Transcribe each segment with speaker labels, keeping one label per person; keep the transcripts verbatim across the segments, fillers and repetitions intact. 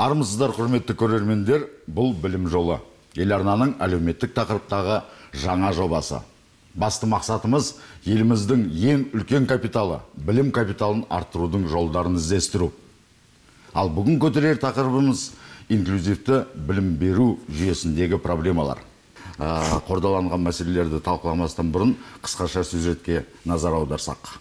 Speaker 1: Армысыздар, құрметті көрермендер, бұл білім жолы. Еларнаның әлеуметтік тақырыптағы жаңа жобасы. Басты мақсатымыз еліміздің ең үлкен капиталы, білім капиталын арттырудың жолдарын іздестіру. Ал бүгін көтерер тақырыбымыз инклюзивті білім беру жүйесіндегі проблемалар. Қордаланған мәселелерді талқыламастан бұрын қысқаша сюжетке назар аударсақ.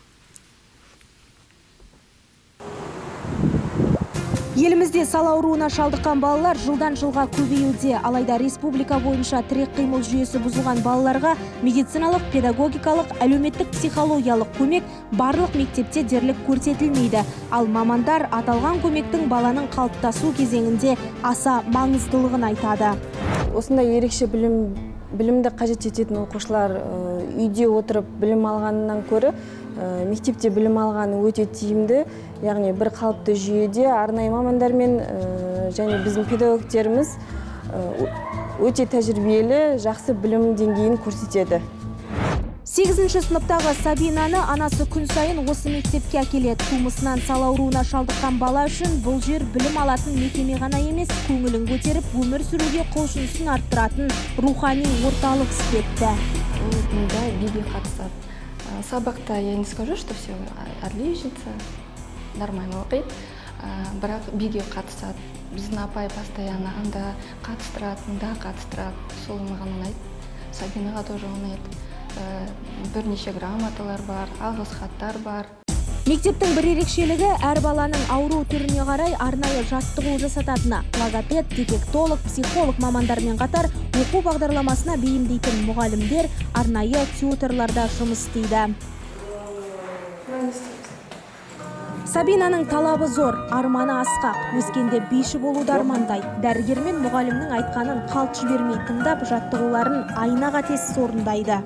Speaker 2: Елімізде сал ауруына шалдыққан балалар жылдан жылға көбеюде. Алайда республика бойынша тірек қимыл жүйесі бұзылған балаларға медициналық, педагогикалық, әлеуметтік психологиялық көмек барлық мектепте дерлік көрсетілмейді. Ал мамандар аталған көмектің баланың қалыптасу кезеңінде аса маңыздылығын айтады.
Speaker 3: Осындай ерекше білім білімді қажет ететін оқушылар үйде отырып білім алғанынан көрі мектепте білім алғаны өте тиімді, яғни бір қалыпты жүйеде арнайы мамандармен және біздің педагогтеріміз өте тәжірибелі, жақсы білім деңгейін көрсетеді.
Speaker 2: сегізінші сыныптағы Сабинаны анасы күн сайын осы мектепке әкеледі. Тумысынан сал ауруына шалдыққан бала үшін бұл жер білім алатын мекеме ғана емес, көңілін көтеріп, өмір сүруге құлшынысын арттыратын рухани орталық іспетті.
Speaker 4: Да, биге қатысады. Сабақта я не скажу, что все отличница, нормально оқиды, бірақ биге қатысады. Біздің апай постоянно анда қатыстырады, мында қатыстырады, сол маған ұнайды. Сабинаға тоже ұнайды. Бірнеше грамоталар бар, алғыс хаттар бар.
Speaker 2: Мектептің бір ерекшелігі әр баланың ауру түріне қарай арнайы жаттығу жасататыны. Логопед, дефектолог, психолог мамандармен қатар оқу бағдарламасына бейімдейтін мұғалімдер арнайы тьюторларда жұмыс істейді. Сабинаның талабы зор, арманы асқақ. Өскенде биші болуды армандайды. Дәрігермен мұғалімнің айтқанын қалт жібермей тыңдап, жаттығуларын айна қатесіз орындайды.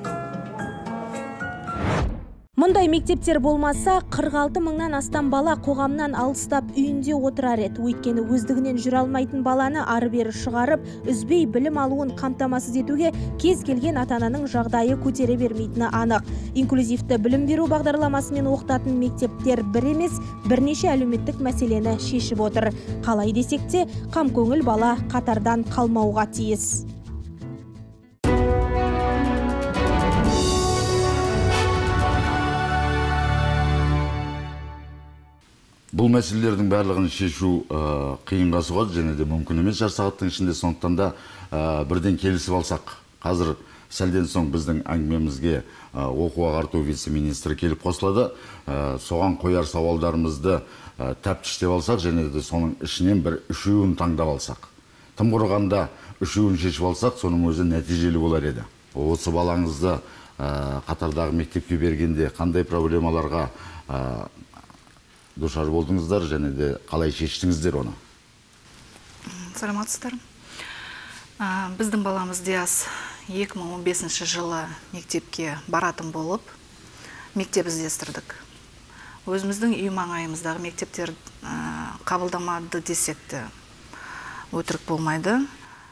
Speaker 2: Мұндай мектептер болмаса, қырық алты мыңнан астам бала қоғамнан алыстап үйінде отырар еді. Өйткені өздігінен жүре алмайтын баланы ары-бері шығарып, үзбей білім алуын қамтамасыз етуге кез келген ата-ананың жағдайы көтере бермейтіні анық. Инклюзивті білім беру бағдарламасымен оқытатын мектептер бір емес, бірнеше әлеуметтік мәселені шешіп отыр. Қалай десек те, қамкөңіл бала қатардан қалмауға тиіс.
Speaker 1: Бұл мәселелердің барлығын шешу қиынға соғады, және де мүмкін емес жар сағаттың ішінде, сондықтан да бірден келісіп алсақ. Қазір сәлден соң біздің әңгімемізге оқу ағарту вице-министрі келіп қосылады. Соған қояр сауалдарымызды тәптіштеп алсақ, және де соның ішінен бір үшеуін таңдап алсақ. Тым құрығанда үшеуін шешіп алсақ, соның өзі нәтижелі болар еді. Осы балаңызды қатардағы мектепке бергенде қандай проблемаларға душар болдыңыздар, және де қалай шештіңіздер оны?
Speaker 5: Саламатсыздар. Біздің баламыз Диас екі мың он бесінші жылы мектепке баратын болып, мектеп іздестірдік. Өзіміздің үй маңайымыздағы мектептер қабылдамады десек те өтірік болмайды.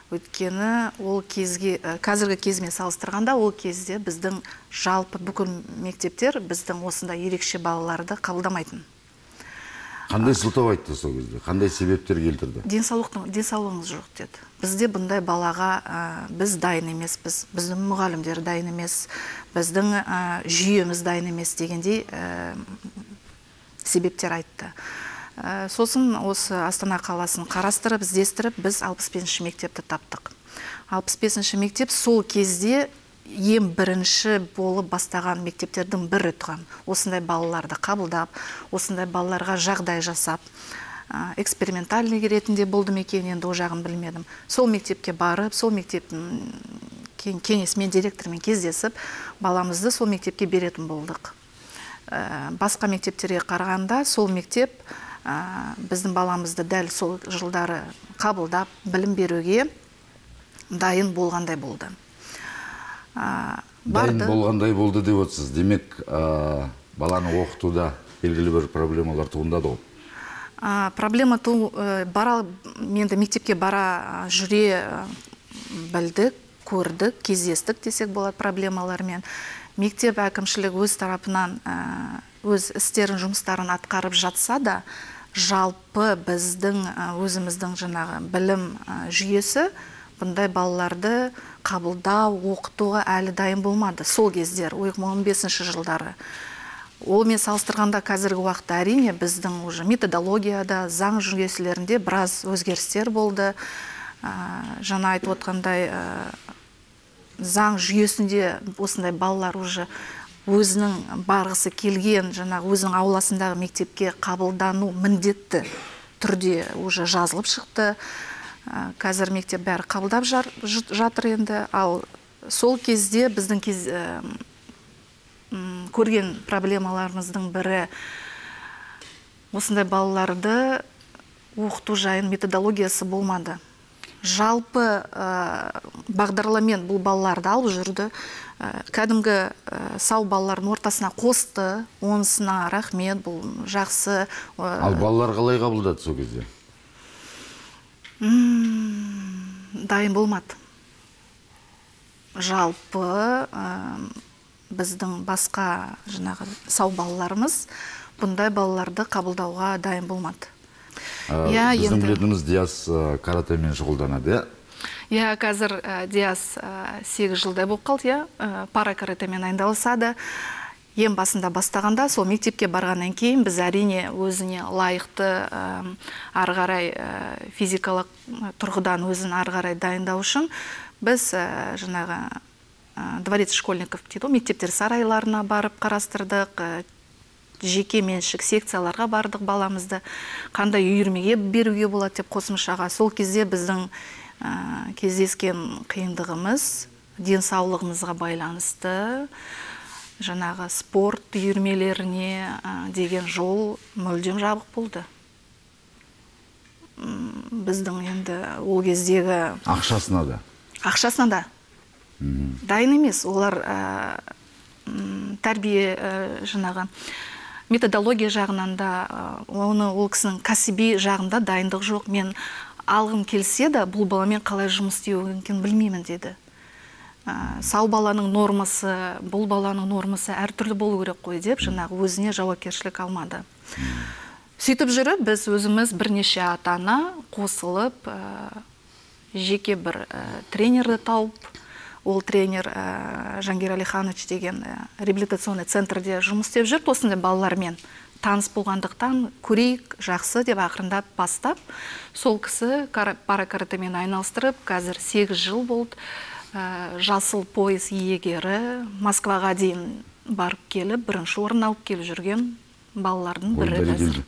Speaker 5: Өйткені ол кезге, қазіргі кезмен салыстырғанда, ол кезде біздің жалпы бүкіл мектептер біздің осында ерекше балаларды қабылдамайтын.
Speaker 1: Қандай сылтау айтты сол кезде? Қандай себептер келтірді?
Speaker 5: Денсаулығыңыз жоқ деді. Бізде бұндай балаға біз дайын емеспіз, біздің мұғалімдер дайын емес, біздің жүйеміз дайын емес дегендей себептер айтты. Сосын осы Астана қаласын қарастырып, іздестіріп, біз алпыс бесінші мектепті таптық. алпыс бесінші мектеп сол кезде ең бірінші болып бастаған мектептердің бірі тұған. Осындай балаларды қабылдап, осындай балаларға жағдай жасап, экспериментальный ретінде болды мекен, енді о жағын білмедім. Сол мектепке барып, сол мектептің кеңесімен, директормен кездесіп, баламызды сол мектепке беретін болдық. Басқа мектептерге қарағанда, сол мектеп біздің баламызды дәл сол жылдары қабылдап, білім беруге дайын болғандай болды.
Speaker 1: Дайын болғандай болды деп отырсыз. Демек, баланы оқытуда белгілі бір проблемалар туындады ғой?
Speaker 5: Проблема менде мектепке бара жүре білдік, көрдік, кездестік десек болады проблемалармен. Мектеп әкімшілік өз тарапынан өз істерін, жұмыстарын атқарып жатса да, жалпы біздің өзіміздің жаңағы білім жүйесі бұндай балаларды қабылдау, оқытуға әлі дайын болмады. Сол кездер, екі мың он бесінші жылдары. Олмен салыстырғанда қазіргі уақытта әрине біздің уже методологияда, заң жүйелерінде біраз өзгерістер болды. Жаңа айтып отқандай заң жүйесінде осындай балалар уже өзінің барғысы келген, жаңағы өзінің ауласындағы мектепке қабылдану міндетті түрде уже жазылып шықты. Қазір мектеп бәрі қабылдап жатыр енді. Ал сол кезде біздің кез көрген проблемаларымыздың бірі осындай балаларды оқыту жайын методологиясы болмады. Жалпы бағдарламен бұл балаларды алып жүрді. Кәдімгі сау балалардың ортасына қосты. Онысына рахмет, бұл жақсы.
Speaker 1: Ал балалар қалай қабылдады сол кезде?
Speaker 5: Дайын болмады. Жалпы біздің басқа жаңағы сау балаларымыз бұндай балаларды қабылдауға дайын болмады.
Speaker 1: Біздің білетініміз Диас каратэмен шұғылданады, иә?
Speaker 5: Иә, қазір Диас сегіз жылдай болып қалды, пара каратэмен айналысады. Ең басында бастағанда, сол мектепке барғаннан кейін біз әрине өзіне лайықты ары қарай физикалық тұрғыдан өзін ары қарай дайындау үшін біз жаңағы дворец школьников дейді, мектептер сарайларына барып қарастырдық, жеке меншік секцияларға бардық баламызды, қандай үйірмеге беруге болады деп қосымшаға. Сол кезде біздің кездескен қиындығымыз денсаулығымызға байланысты, жаңағы спорт үйірмелеріне деген жол мүлдем жабық болды. Біздің енді ол кездегі...
Speaker 1: Ақшасына да?
Speaker 5: Ақшасына да. Дайын емес. Олар тәрбие жаңағы методология жағынан да, оны ол кісінің кәсіби жағында дайындық жоқ. Мен алғым келсе де, бұл баламен қалай жұмыс істеуін білмеймін деді. Сау баланың нормасы, бұл баланың нормасы әртүрлі болу керек қой деп, жаңағы өзіне жауапкершілік алмады. Сөйтіп жүріп, біз өзіміз бірнеше ата-ана қосылып, жеке бір тренерді тауып, ол тренер Жангир Алиханович деген реабилитационный центрде жұмыс істеп жүріп, осындай балалармен таныс болғандықтан көрейік, жақсы деп ақырындап бастап, сол кісі пара каратэмен айналыстырып, қазір сегіз жыл болды. Жасыл пояс иегері, Москваға дейін барып келіп, бірінші орын алып келіп жүрген балалардың бірі қазір.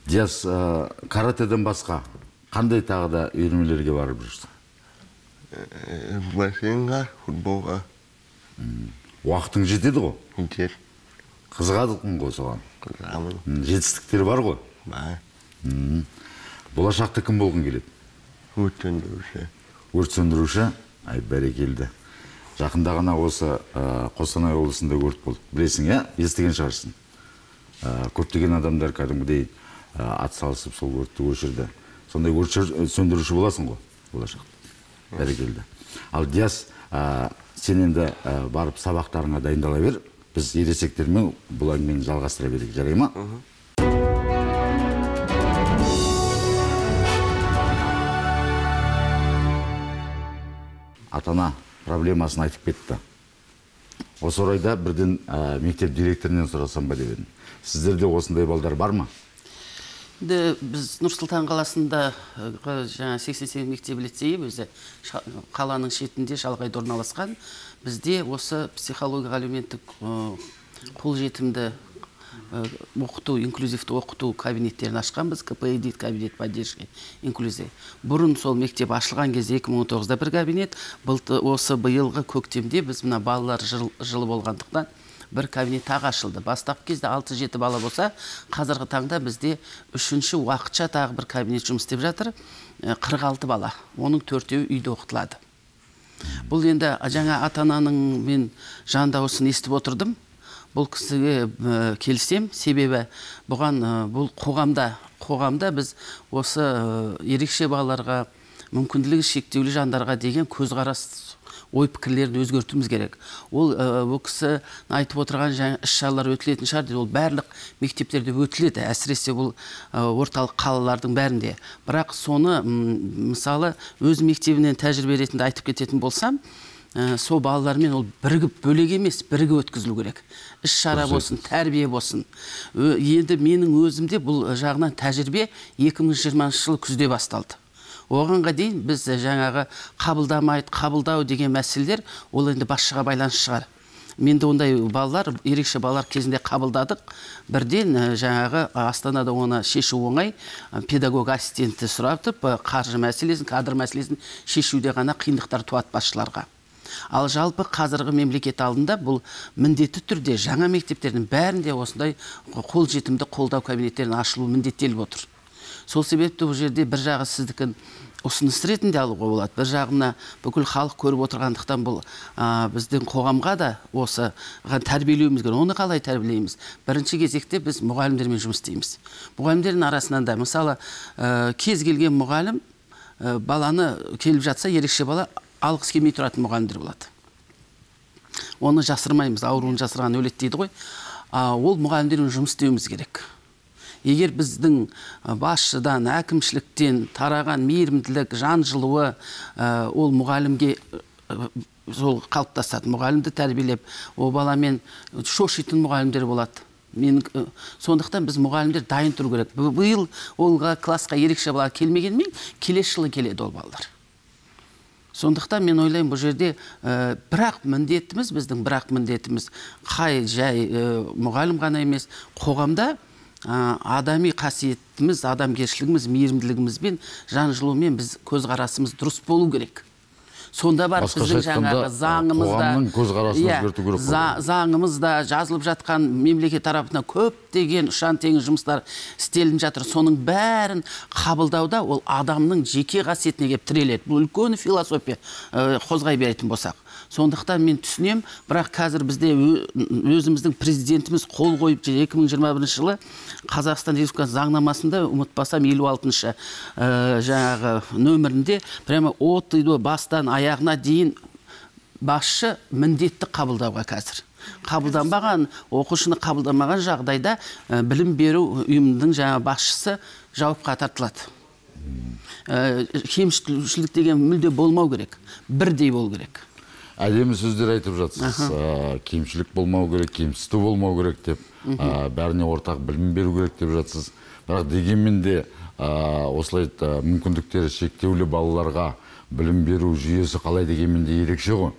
Speaker 1: Диас, каратэден басқа қандай тағы да үйірмелерге барып жүрсің?
Speaker 6: Бассейнға, футболға.
Speaker 1: Уақытың жетеді ғой?
Speaker 6: Жетеді.
Speaker 1: Қызығадың ғой соған?
Speaker 6: Қызығамын.
Speaker 1: Жетістіктер бар ғой?
Speaker 6: Бар.
Speaker 1: Болашақта кім болғың келеді?
Speaker 6: Өрт сөндіруші.
Speaker 1: Өрт сөндіруші? Ай, бәрекелді. Жақында ғана осы Қостанай облысында өрт болды. Білесің, иә? Естіген шығарсың. Көптеген адамдар кәдімгідей ат салысып сол өртті өшірді. Сондай өрт сөндіруші боласың ғой, болашақта. Бәрекелді. Ал Диас, сен енді барып сабақтарыңа дайындала бер. Біз ересектермен бұл әңгімені жалғастыра берейік. Жарай ма? Атана проблемасын айтып кетті. Осы орайда бірден мектеп директорынан сұрасам ба деп едім. Сіздерде осындай балдар бар ма?
Speaker 7: Біз Нұр-Сұлтан қаласында сексен сегіз мектеп лицейі, өзі қаланың шетінде шалғайда орналасқан. Бізде осы психология әлеуметтік қолжетімді оқыту, инклюзивті оқыту кабинеттерін ашқан. Біз ка пэ и дейді, кабинет поддержки инклюзия. Бұрын сол мектеп ашылған кезде екі мың он тоғызда бір кабинет, осы биылғы көктемде біз мына балалар жылы болғандықтан бір кабинет тағы ашылды. Бастапқы кезде алты жеті бала болса, қазіргі таңда бізде үшінші уақытша тағы бір кабинет жұмыс істеп жатыр, қырық алты бала. Оның төртеуі үйде оқытылады. Бұл енді жаңа ата-ананың мен жан дауысын естіп отырдым. Бұл кісіге келсем, себебі бұған бұл қоғамда, қоғамда біз осы ерекше балаларға, мүмкінділігі шектеулі жандарға деген көзқарас ой пікірлерді өзгертуіміз керек. Ол ол кісі айтып отырған жаңа іс-шаралар өтілетін шығар дейді. Ол барлық мектептерде өтіледі, әсіресе бұл орталық қалалардың бәрінде. Бірақ соны мысалы өз мектебінен тәжірибе ретінде айтып кететін болсам, сол балалармен ол бірігіп бөлек емес, бірігіп өткізілу керек. Іс-шара болсын, тәрбие болсын. Енді менің өзімде бұл жағынан тәжірибе екі мың жиырмасыншы жылы күзде басталды. Оғанға дейін біз жаңағы қабылдамайды, қабылдау деген мәселелер ол енді басшыға байланысты шығар. Менде ондай балалар, ерекше балалар кезінде қабылдадық. Бірден жаңағы Астанада оны шешу оңай, педагог ассистенті сұратып, қаржы мәселесін, кадр мәселесін шешуде ғана қиындықтар туады басшыларға. Ал жалпы қазіргі мемлекет алдында бұл міндетті түрде жаңа мектептердің бәрінде осындай қолжетімді қолдау кабинеттерін ашылу міндеттеліп отыр. Сол себепті бұл жерде бір жағы сіздікін ұсыныс ретінде алуға болады. Бір жағына бүкіл халық көріп отырғандықтан бұл біздің қоғамға да осы тәрбиелеуіміз керек. Оны қалай тәрбиелейміз? Бірінші кезекте біз мұғалімдермен жұмыс істейміз. Мұғалімдердің арасынан да мысалы кез келген мұғалім баланы келіп жатса, ерекше бала алғыс келмей тұратын мұғалімдер болады. Оны жасырмаймыз, ауруын жасырған өледі дейді ғой. Ол мұғалімдермен жұмыс істеуіміз керек. Егер біздің басшыдан, әкімшіліктен тараған мейірімділік, жан жылуы ол мұғалімге сол қалыптасады. Мұғалімді тәрбиелеп, ол баламен шошитын мұғалімдер болады. Сондықтан біз мұғалімдер дайын тұру керек. Биыл олға классқа ерекше бала келмегенмен, келесі жылы келеді ол балалар. Сондықтан мен ойлаймын, бұл жерде бірақ міндетіміз, біздің бірақ міндетіміз қай жай мұғалім ғана емес, қоғамда адами қасиетіміз, адамгершілігіміз, мейірімділігімізбен, жан жылуымен біз көзқарасымыз дұрыс болу керек. Сонда бар біздің жаңағы заңымызда, заңымызда жазылып жатқан мемлекет тарапынан көптеген ұшан-теңіз жұмыстар істелініп жатыр. Соның бәрін қабылдауда ол адамның жеке қасиетіне келіп тіреледі. Бұл үлкен философия қозғай беретін болсақ. Сондықтан мен түсінем, бірақ қазір бізде өзіміздің президентіміз қол қойып екі мың жиырма бірінші жылы Қазақстан Республикасы заңнамасында, ұмытпасам елу алтыншы жаңағы нөмірінде прямо от бастан аяғына дейін басшы міндетті қабылдауға қазір. Қабылданбаған, оқушыны қабылдамаған жағдайда білім беру ұйымының жаңа басшысы жауапқа тартылады. Кемшілік деген мүлде болмау керек, бірдей болу керек.
Speaker 1: Әдемі сөздер айтып жатсыз. Кемшілік болмау керек, кемсіту болмау керек деп, бәріне ортақ білім беру керек деп жатсыз. Бірақ дегенмен де осылай мүмкіндіктері шектеулі балаларға білім беру жүйесі қалай дегенмен де ерекше ғой.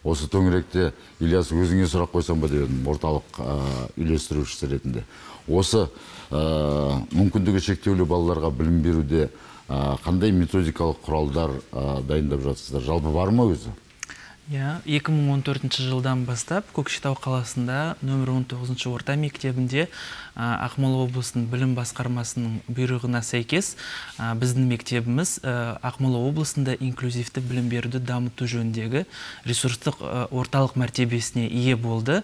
Speaker 1: Осы төңіректе Ильяс өзіңе сұрақ қойсам ба деп едім, орталық үйлестірушісі ретінде. Осы мүмкіндігі шектеулі балаларға білім беруде қандай методикалық құралдар дайындап жатсыздар? Жалпы бар ма өзі?
Speaker 8: екі мың он төртінші жылдан бастап Көкшетау қаласында нөмір он тоғызыншы орта мектебінде Ақмола облысының білім басқармасының бұйрығына сәйкес біздің мектебіміз Ақмола облысында инклюзивті білім беруді дамыту жөніндегі ресурстық орталық мәртебесіне ие болды.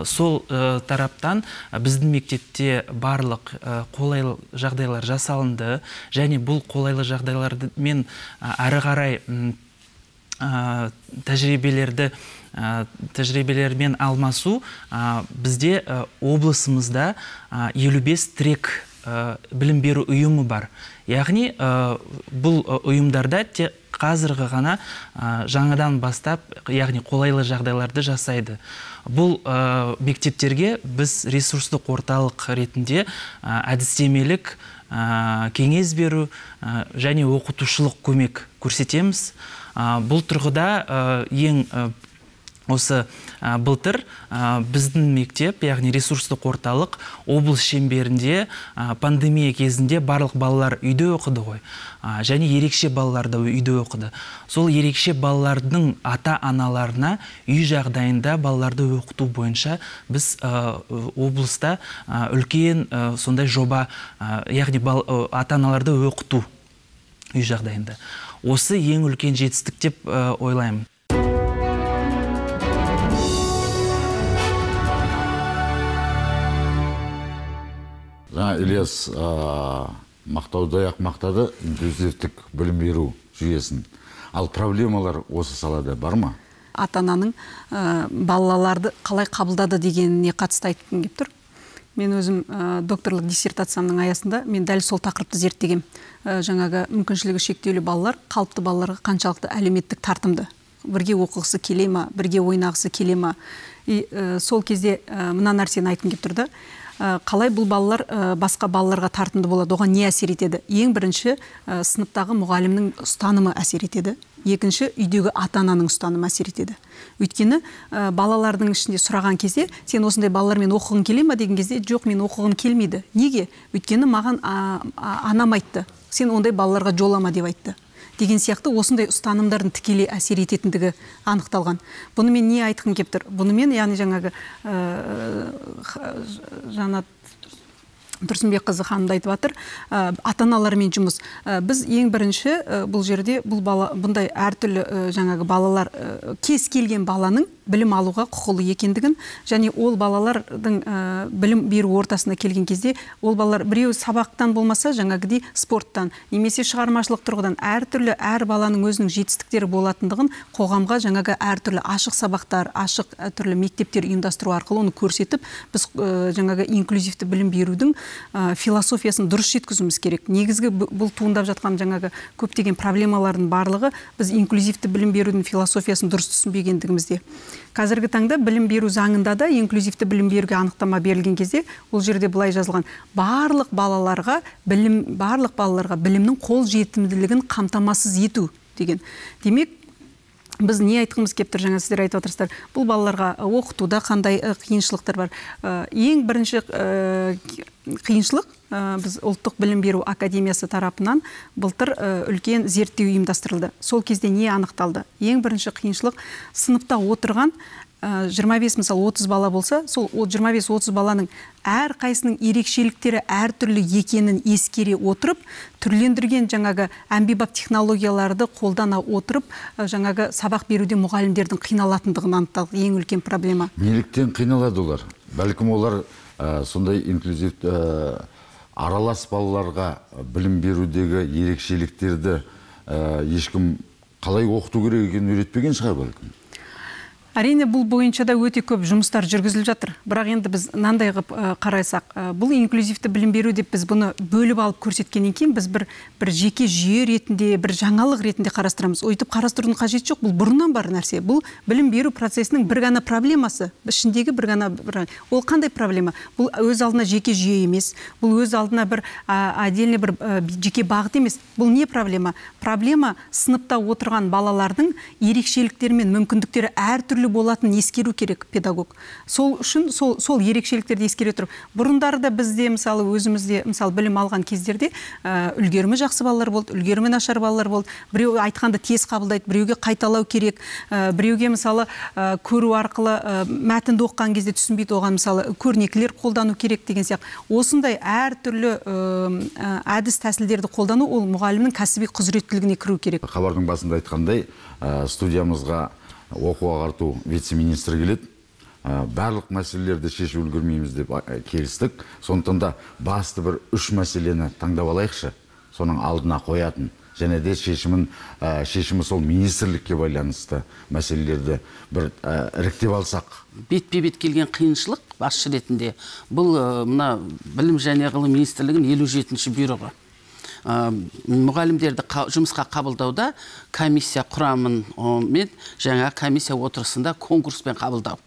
Speaker 8: Сол тараптан біздің мектепте барлық қолайлы жағдайлар жасалынды, және бұл қолайлы жағдайлармен әрі қарай тәжірибелерді тәжірибелермен алмасу бізде облысымызда елу бес трек білім беру ұйымы бар. Яғни бұл ұйымдарда тек қазіргі ғана жаңадан бастап, яғни қолайлы жағдайларды жасайды. Бұл мектептерге біз ресурстық орталық ретінде әдістемелік кеңес беру және оқытушылық көмек көрсетеміз. Бұл тұрғыда ең осы былтыр біздің мектеп, яғни ресурстық орталық облыс шеңберінде пандемия кезінде барлық балалар үйде оқыды ғой, және ерекше балалар да үйде оқыды. Сол ерекше балалардың ата-аналарына үй жағдайында балаларды оқыту бойынша біз облыста үлкен сондай жоба, яғни ата-аналарды оқыту үй жағдайында. Осы ең үлкен жетістік деп ойлаймын.
Speaker 1: Жаңа Ильяс мақтаудай-ақ мақтады инклюзивтік білім беру жүйесін. Ал проблемалар осы салада бар ма?
Speaker 9: Ата-ананың балаларды қалай қабылдады дегеніне қатысты айтқым келіп тұр. Мен өзім докторлық диссертациямның аясында мен дәл сол тақырыпты зерттегем. Жаңағы мүмкіншілігі шектеулі балалар қалыпты балаларға қаншалықты әлеуметтік тартымды, бірге оқығысы келе ма, бірге ойнағысы келе ма. Сол кезде мына нәрсені айтқым келіп тұрды. Қалай бұл балалар басқа балаларға тартымды болады, оған не әсер етеді? Ең бірінші сыныптағы мұғалімнің ұстанымы әсер етеді. Екінші, үйдегі ата-ананың ұстанымы әсер етеді. Өйткені балалардың ішінде сұраған кезде, сен осындай балалармен оқығың келе ме деген кезде, жоқ, мен оқығым келмейді. Неге? Өйткені маған анам айтты, сен ондай балаларға жолама деп айтты. Деген сияқты осындай ұстанымдардың тікелей әсер ететіндігі анықталған. Бұны мен не айтқым келіп тұр? Бұны мен, яғни жаңағы Жанат Тұрсынбекқызы ханымды айтып жатыр, ата-аналармен жұмыс. Біз ең бірінші бұл жерде бұл бала, бұндай әртүрлі жаңағы балалар, кез келген баланың білім алуға құқылы екендігін, және ол балалардың білім беру ортасына келген кезде, ол балалар біреу сабақтан болмаса, жаңағыдей спорттан, немесе шығармашылық тұрғыдан әртүрлі әр баланың өзінің жетістіктері болатындығын қоғамға жаңағы әртүрлі ашық сабақтар, ашық түрлі мектептер ұйымдастыру арқылы оны көрсетіп, біз жаңағы инклюзивті білім берудің философиясын дұрыс жеткізуіміз керек. Негізгі бұл туындап жатқан жаңағы көптеген проблемалардың барлығы біз инклюзивті білім берудің философиясын дұрыс түсінбегендігімізде. Қазіргі таңда білім беру заңында да инклюзивті білім беруге анықтама берілген кезде, ол жерде былай жазылған: барлық балаларға білім, барлық балаларға білімнің қол жетімділігін қамтамасыз ету деген. Демек, біз не айтқымыз келіп тұр, жаңа сіздер айтып отырсыздар, бұл балаларға оқытуда қандай қиыншылықтар бар? Ең бірінші қиыншылық, біз ұлттық білім беру академиясы тарапынан былтыр үлкен зерттеу ұйымдастырылды. Сол кезде не анықталды? Ең бірінші қиыншылық, сыныпта отырған жиырма бес, мысалы отыз бала болса, сол жиырма бес отыз баланың әр қайсының ерекшеліктері әртүрлі екенін ескере отырып, түрлендірген жаңағы әмбебап технологияларды қолдана отырып, жаңағы сабақ беруде мұғалімдердің қиналатындығын анықталды. Ең үлкен проблема.
Speaker 1: Неліктен қиналады олар? Бәлкім олар сондай инклюзив аралас балаларға білім берудегі ерекшеліктерді ешкім қалай оқыту керек екенін үйретпеген шығар бәлкім.
Speaker 9: Әрине, бұл бойынша да өте көп жұмыстар жүргізіліп жатыр. Бірақ енді біз мынандай қылып қарасақ, бұл инклюзивті білім беру деп біз бұны бөліп алып көрсеткеннен кейін, біз бір бір жеке жүйе ретінде, бір жаңалық ретінде қарастырамыз. Өйтіп қарастырудың қажеті жоқ. Бұл бұрыннан бар нәрсе. Бұл білім беру процесінің бір ғана проблемасы. Ішіндегі бір ғана бір... Ол қандай проблема? Бұл өз алдына жеке жүйе емес. Бұл өз алдына бір отдельный бір жеке бағыт емес. Бұл не проблема? Проблема сыныпта отырған балалардың ерекшеліктері мен мүмкіндіктері әртүрлі болатын ескеру керек педагог. Сол үшін сол, сол ерекшеліктерді ескере тұрып, бұрындары да бізде мысалы өзімізде мысалы білім алған кездерде үлгерімі жақсы балалар болды, үлгерімі нашар балалар болды. Біреу айтқанды тез қабылдайды, біреуге қайталау керек, біреуге мысалы көру арқылы мәтінді оқыған кезде түсінбейді, оған мысалы көрнекілер қолдану керек деген сияқты. Осындай әртүрлі әдіс тәсілдерді қолдану ол мұғалімнің кәсіби құзыреттілігіне кіру керек.
Speaker 1: Хабардың басында айтқандай, студиямызға оқу ағарту вице-министрі келеді. Барлық мәселелерді шешіп үлгермейміз деп келістік. Сондықтан да басты бір үш мәселені таңдап алайықшы. Соның алдына қоятын. Және де шешімін, шешімі сол министрлікке байланысты мәселелерді бір іріктеп алсақ.
Speaker 7: Бетпе-бет келген қиыншылық басшы ретінде бұл мына білім және ғылым министрлігінің елу жетінші бұйрығы. Мұғалімдерді жұмысқа қабылдауда комиссия құрамын мен жаңа комиссия отырысында конкурспен қабылдау.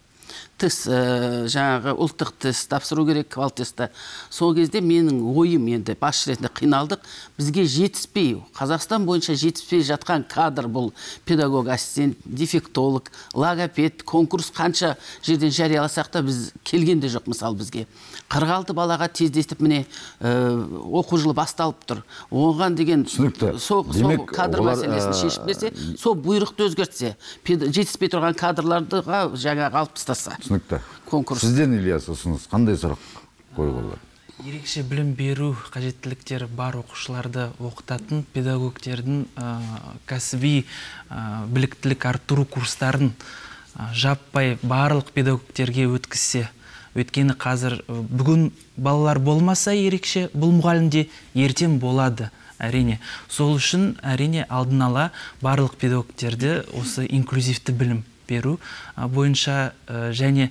Speaker 7: Тест, жаңағы ұлттық тест тапсыру керек, квал тесті. Сол кезде менің ойым енді басшы ретінде қиналдық. Бізге жетіспей, Қазақстан бойынша жетіспей жатқан кадр бұл педагог, ассистент, дефектолог, логопед, конкурс қанша жерден жарияласақ та біз келген де жоқ мысалы бізге. қырық алты балаға тездетіп міне оқу жылы басталып тұр. Оған деген сол кадр мәселесін шешіп берсе, сол бұйрықты өзгертсе, жетіспей тұрған кадрларға жаңағы алып тастаса.
Speaker 1: Түсінікті. Сізден, Ильяс, ұсыныс қандай сұрақ қоюға болады?
Speaker 8: Ерекше білім беру қажеттіліктері бар оқушыларды оқытатын педагогтердің кәсіби біліктілік арттыру курстарын жаппай барлық педагогтерге өткізсе. Өйткені қазір бүгін балалар болмаса ерекше, бұл мұғалімде ертең болады. әрине. Сол үшін әрине алдын ала барлық педагогтерді осы инклюзивті білім беру бойынша және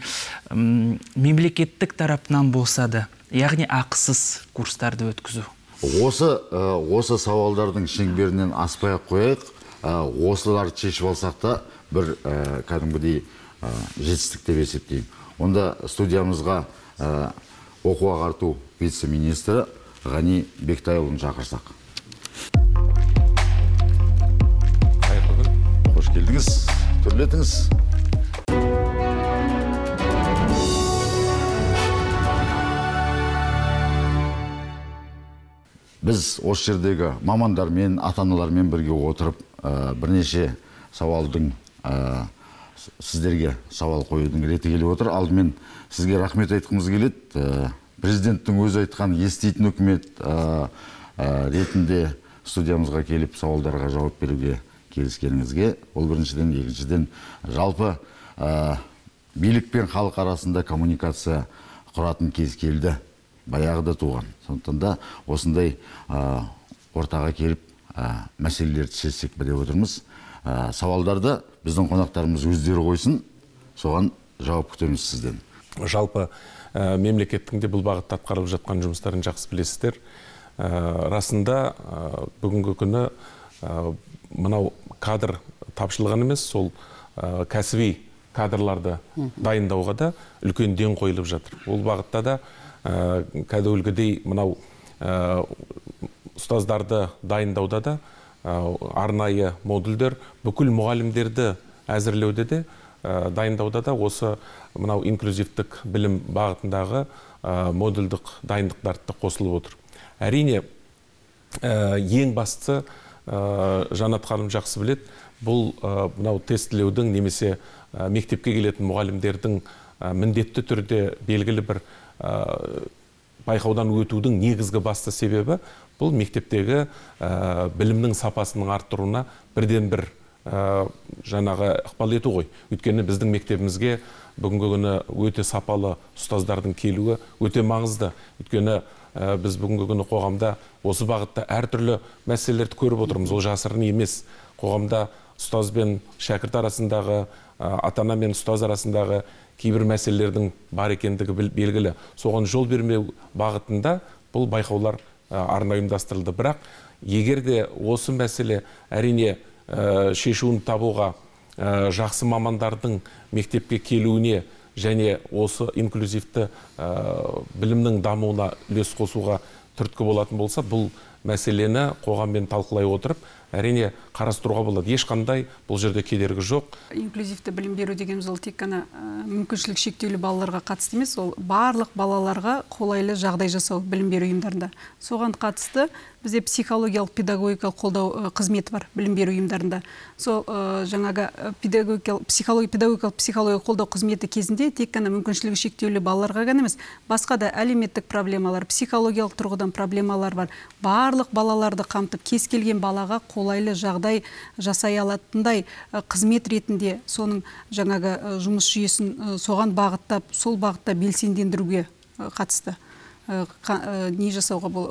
Speaker 8: мемлекеттік тарапынан болса да, яғни ақысыз курстарды өткізу.
Speaker 1: Осы осы сауалдардың шеңберінен аспай қойып, осыларды шешіп алсақ та бір кәдімгідей жетістік деп есептеймін. Онда студиямызға оқу ағарту вице-министрі Ғани Бектайұлын шақырсақ. Қош келдіңіз, түрлетіңіз. Біз осы жердегі мамандармен, ата-аналармен бірге отырып, бірнеше сауалдың сіздерге сауал қоюдың реті келіп отыр. Алдымен сізге рахмет айтқымыз келеді. Президенттің өзі айтқан еститін үкімет ретінде студиямызға келіп сауалдарға жауап беруге келіскеніңізге. Ол біріншіден, екіншіден жалпы билік пен халық арасында коммуникация құратын кез келді. Баяғыда туған. Сондықтан да осындай ортаға келіп мәселелерді шешсек деп отырмыз. Сауалдарды біздің қонақтарымыз өздері қойсын, соған жауап күтеміз сізден.
Speaker 10: Жалпы мемлекеттің де бұл бағытта атқарылып жатқан жұмыстарын жақсы білесіздер. Расында бүгінгі күні мынау кадр тапшылығын емес, сол кәсіби кадрларды дайындауға да үлкен ден қойылып жатыр. Ол бағытта да кәдімгідей мынау ұстаздарды дайындауда да арнайы модульдер, бүкіл мұғалімдерді әзірлеуде де дайындауда да осы мынау инклюзивтік білім бағытындағы модульдік дайындықтарды қосылып отыр. Әрине, ең бастысы Жанат ханым жақсы білет, бұл мынау тестілеудің немесе мектепке келетін мұғалімдердің міндетті түрде белгілі бір байқаудан өтудің негізгі басты себебі бұл мектептегі білімнің сапасының арттыруына бірден бір жаңағы ықпал ету ғой. Өйткені біздің мектебімізге бүгінгі күні өте сапалы ұстаздардың келуі өте маңызды. Өйткені біз бүгінгі күні қоғамда осы бағытта әртүрлі мәселелерді көріп отырмыз. Ол жасырын емес. Қоғамда ұстаз бен шәкірт арасындағы, ата-ана мен ұстаз арасындағы кейбір мәселелердің бар екендігі белгілі. Соған жол бермеу бағытында бұл байқаулар арнайы ұйымдастырылды. Бірақ егер де осы мәселе әрине шешуін табуға жақсы мамандардың мектепке келуіне және осы инклюзивті білімнің дамуына үлес қосуға түрткі болатын болса, бұл мәселені қоғаммен талқылай отырып, әрине қарастыруға болады. Ешқандай бұл жерде кедергі жоқ.
Speaker 9: Инклюзивті білім беру дегеніміз ол тек қана мүмкіншілік шектеулі балаларға қатысты емес, ол барлық балаларға қолайлы жағдай жасау білім беру ұйымдарында. Соған қатысты бізде психологиялық педагогикалық қолдау қызметі бар білім беру ұйымдарында. Сол жаңағы педагогикалық психология педагогикалық психология қолдау қызметі кезінде тек қана мүмкіншілігі шектеулі балаларға ғана емес, басқа да әлеуметтік проблемалар, психологиялық тұрғыдан проблемалар бар. Барлық балаларды қамтып, кез келген балаға қолайлы жағдай жасай алатындай қызмет ретінде соның жаңағы жұмыс жүйесін соған бағыттап, сол бағытта белсендендіруге қатысты не жасауға бол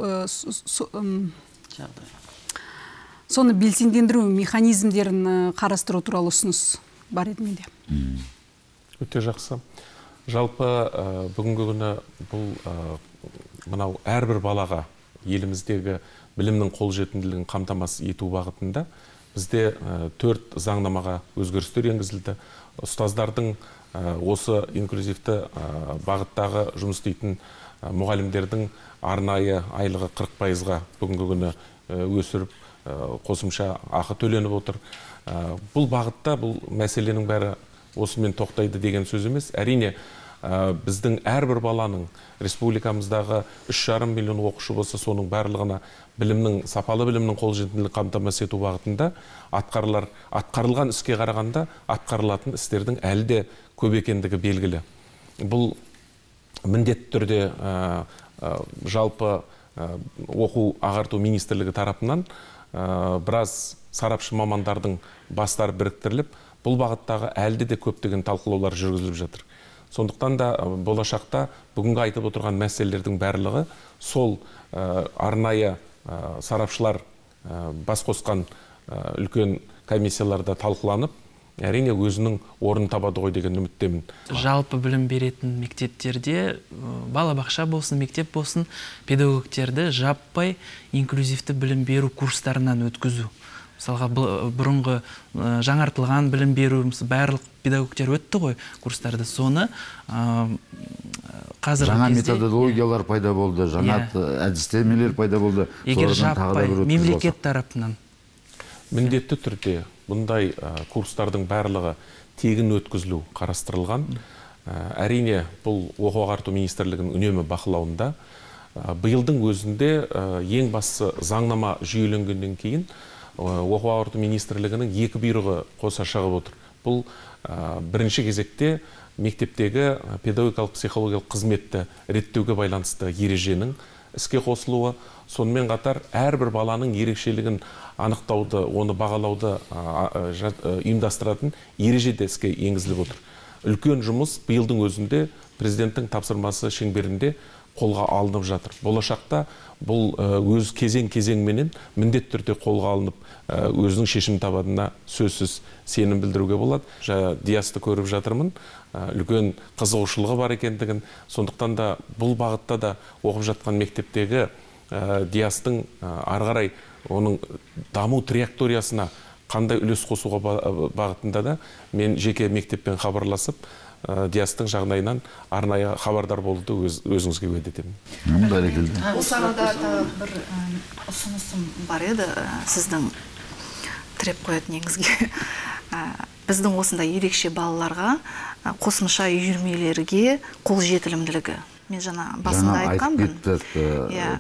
Speaker 9: соны белсендендіру механизмдерін қарастыру туралы ұсыныс бар еді менде.
Speaker 10: Өте жақсы. Жалпы бүгінгі күні бұл мынау әрбір балаға еліміздегі білімнің қолжетімділігін қамтамасыз ету бағытында бізде төрт заңнамаға өзгерістер енгізілді. Ұстаздардың осы инклюзивті бағыттағы жұмыс істейтін мұғалімдердің арнайы айлығы қырық пайызға бүгінгі күні өсіріп қосымша ақы төленіп отыр. Бұл бағытта бұл мәселенің бәрі осымен тоқтайды деген сөз емес. Әрине, біздің әрбір баланың республикамыздағы үш жарым миллион оқушы болса, соның барлығына білімнің, сапалы білімнің қолжетімділігін қамтамасыз ету бағытында атқарылар, атқарылған іске қарағанда атқарылатын істердің әлі де көп екендігі белгілі. Бұл міндетті түрде жалпы оқу ағарту министрлігі тарапынан біраз сарапшы мамандардың бастары біріктіріліп, бұл бағыттағы әлде де көптеген талқылаулар жүргізіліп жатыр. Сондықтан да болашақта бүгінгі айтып отырған мәселелердің барлығы сол арнайы сарапшылар бас қосқан үлкен комиссияларда талқыланып, әрине өзінің орнын табады ғой деген үміттемін.
Speaker 8: Жалпы білім беретін мектептерде балабақша болсын, мектеп болсын, педагогтерді жаппай инклюзивті білім беру курстарынан өткізу. Мысалға бұрынғы жаңартылған білім беру, барлық педагогтер өтті ғой курстарды. Соны қазіргі
Speaker 1: жаңа
Speaker 8: кезде
Speaker 1: методологиялар пайда болды, жаңа әдістемелер пайда болды.
Speaker 8: Егер жаппай мемлекет тарапынан
Speaker 10: міндетті түрде бұндай курстардың барлығы тегін өткізілу қарастырылған. Әрине, бұл оқу ағарту министрлігінің үнемі бақылауында. Биылдың өзінде ең басты заңнама жүйеленгеннен кейін оқу ағарту министрлігінің екі бұйрығы қоса шығып отыр. Бұл бірінші кезекте мектептегі педагогикалық психологиялық қызметті реттеуге байланысты ереженің іске қосылуы, сонымен қатар әрбір баланың ерекшелігін анықтауды, оны бағалауды ұйымдастыратын ереже де іске енгізіліп отыр. Үлкен жұмыс биылдың өзінде президенттің тапсырмасы шеңберінде қолға алынып жатыр. Болашақта бұл өз кезең-кезеңменен міндетті түрде қолға алынып, өзінің шешім табатынына сөзсіз сенім білдіруге болады. Диасты көріп жатырмын, үлкен қызығушылығы бар екендігін, сондықтан да бұл бағытта да оқып жатқан мектептегі Диастың ары қарай оның даму траекториясына қандай үлес қосуға бағытында да мен жеке мектеппен хабарласып, Диастың жағдайынан арнайы хабардар болуды өзіңізге уәде етемін.
Speaker 5: Осы арада бір ұсынысым бар еді сіздің тіреп қоятын негізге. Біздің осындай ерекше балаларға қосымша үйірмелерге қол жетілімділігі. Мен жаңа басында айтқанмын.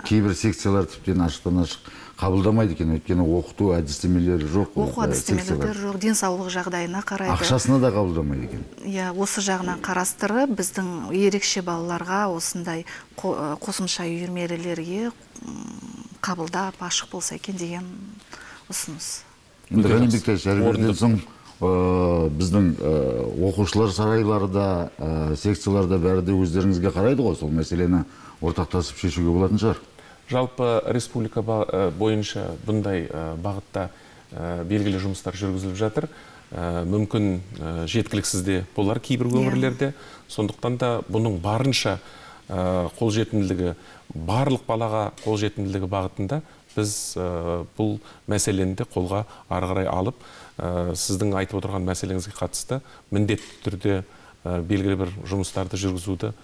Speaker 1: Кейбір секциялар тіптен ашықтан ашық қабылдамайды екен, өйткені оқыту әдістемелері жоқ.
Speaker 5: Оқу әдістемелері жоқ, денсаулық жағдайына қарайды.
Speaker 1: Ақшасына да қабылдамайды екен.
Speaker 5: Иә, осы жағынан қарастырып, біздің ерекше балаларға осындай қосымша үйірмелерге қабылдап ашық болса екен деген ұсыныс.
Speaker 1: Ғани Бекташ, әрбірден соң біздің оқушылар сарайларда, секцияларда бәрі де өздеріңізге қарайды ғой, сол мәселені ортақтасып шешуге болатын шығар.
Speaker 10: Жалпы республика бойынша бұндай бағытта белгілі жұмыстар жүргізіліп жатыр. Мүмкін жеткіліксіз де болар кейбір өңірлерде. Сондықтан да бұның барынша қолжетімділігі, барлық балаға қолжетімділігі бағытында біз бұл мәселені де қолға ары қарай алып, сіздің айтып отырған мәселеңізге қатысты міндетті түрде белгілі бір жұмыстарды жүргізуді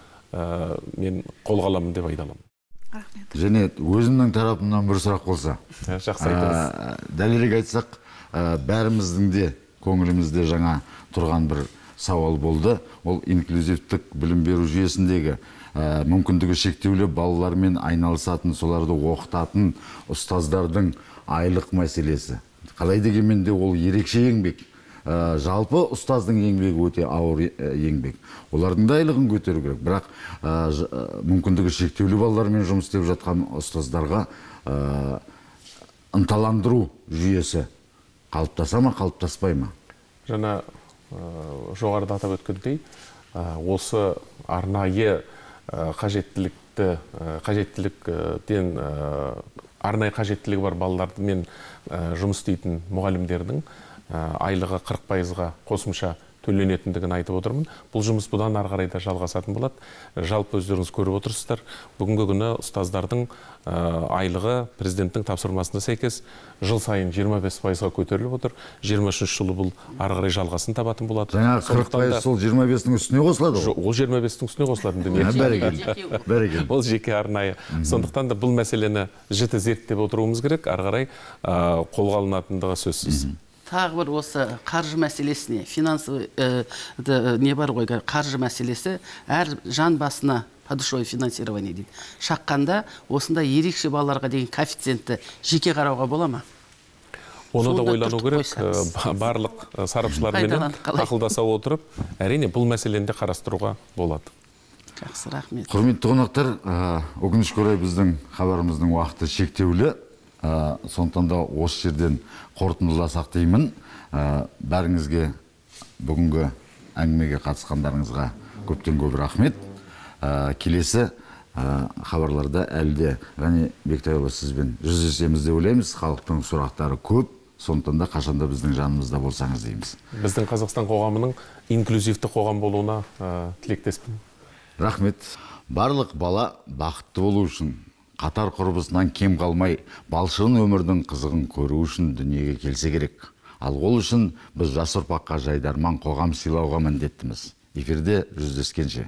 Speaker 10: мен қолға аламын деп айта аламын.
Speaker 1: Және өзімнің тарапымнан бір сұрақ болса.
Speaker 10: Жақсы айтыңыз.
Speaker 1: Дәлірек айтсақ, бәріміздің де көңілімізде жаңа тұрған бір сауал болды. Ол инклюзивтік білім беру жүйесіндегі мүмкіндігі шектеулі балалармен айналысатын, соларды оқытатын ұстаздардың айлық мәселесі. Қалай дегенмен де ол ерекше еңбек. Жалпы ұстаздың еңбегі өте ауыр еңбек. Олардың да айлығын көтеру керек. Бірақ мүмкіндігі шектеулі балалармен жұмыс істеп жатқан ұстаздарға ынталандыру жүйесі қалыптаса ма, қалыптаспай ма?
Speaker 10: Жаңа жоғарыда атап өткендей, осы арнайы қажеттілікті, қажеттіліктен арнайы қажеттілігі бар балалармен жұмыс істейтін мұғалімдердің айлығы қырық пайызға қосымша төленетіндігін айтып отырмын. Бұл жұмыс бұдан ары қарай да жалғасатын болады. Жалпы өздеріңіз көріп отырсыздар, бүгінгі күні ұстаздардың айлығы президенттің тапсырмасына сәйкес жыл сайын жиырма бес пайызға көтеріліп отыр. жиырма үшінші жылы бұл ары қарай жалғасын табатын болады.
Speaker 1: Жаңағы қырық пайыз сол жиырма бестің үстіне қосылады ғой?
Speaker 10: Ол жиырма бестің үстіне қосылады.
Speaker 1: Бәрекелді.
Speaker 10: Ол жеке арнайы. Сондықтан да бұл мәселені жіті зерттеп отыруымыз керек, ары қарай қолға алынатындығы сөзсіз.
Speaker 7: Тағы бір осы қаржы мәселесіне, финансовый не бар ғой, қаржы мәселесі әр жан басына подушевое финансирование дейді. Шаққанда осында ерекше балаларға деген коэффициентті жеке қарауға бола ма?
Speaker 10: Оны да ойлану керек, барлық сарапшылармен ақылдаса отырып, әрине бұл мәселені де қарастыруға болады.
Speaker 7: Жақсы, рахмет.
Speaker 1: Құрметті қонақтар, өкінішке орай біздің хабарымыздың уақыты шектеулі. Сондықтан да осы жерден қорытындыласақ деймін. Бәріңізге бүгінгі әңгімеге қатысқандарыңызға көптен көп рахмет. Келесі хабарларда әлі де Ғани Бектайұлы сізбен жүздесеміз деп ойлаймыз. Халықтың сұрақтары көп, сондықтан да қашанда біздің жанымызда болсаңыз дейміз.
Speaker 10: Біздің Қазақстан қоғамының инклюзивті қоғам болуына тілектеспін.
Speaker 1: Рахмет. Барлық бала бақытты болу үшін, қатар құрбысынан кем қалмай, балшығын өмірдің қызығын көру үшін дүниеге келсе керек. Ал ол үшін біз жас ұрпаққа жайдарман қоғам сыйлауға міндеттіміз. Эфирде жүздескенше.